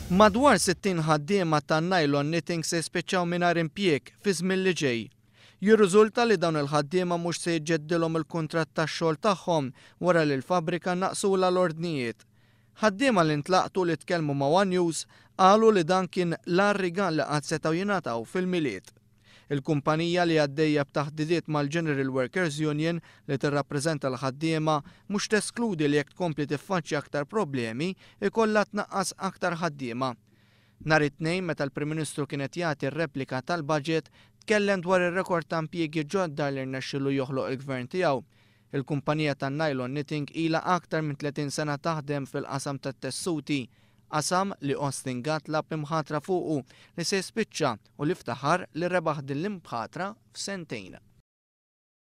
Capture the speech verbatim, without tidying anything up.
Madwar sittin ħaddiema tan-Nylon Knitting se jispiċċaw mingħajr impjieg fi żmien li ġej. Jirriżulta li dawn il-ħaddiema mhux se jiġġeddilhom il-kuntratt tax-xogħol tagħhom wara li l-fabbrika naqsula l-ordnijiet. Ħaddiema li ntlaqtu li tkellmu ma' One News qalu li dan kien l-agħar rigal li qatt setgħu jingħataw fil-Milied. Il-kumpanija, li għaddejja b'taħdidiet mal-General Workers Union li tirrappreżenta l-ħaddiema, mhux teskludi li jekk tkompli tiffaċċja aktar problemi ikollha tnaqqas aktar ħaddiema. Nhar it-Tnejn, meta l-Prim Ministru kienet jagħti r-replika tal-budget, tkellem dwar ir-rekord ta' impjiegi ġodda li rnexxielu joħloq il-gvern tiegħu. Il-kumpanija tan-Nylon Knitting ilha aktar minn tletin sena taħdem fil-qasam tat-tessuti, qasam li Austin Gatt lagħab imħatra fuqu li se jispiċċa u li ftaħar li rebaħ din l-imħatra f'sentejn.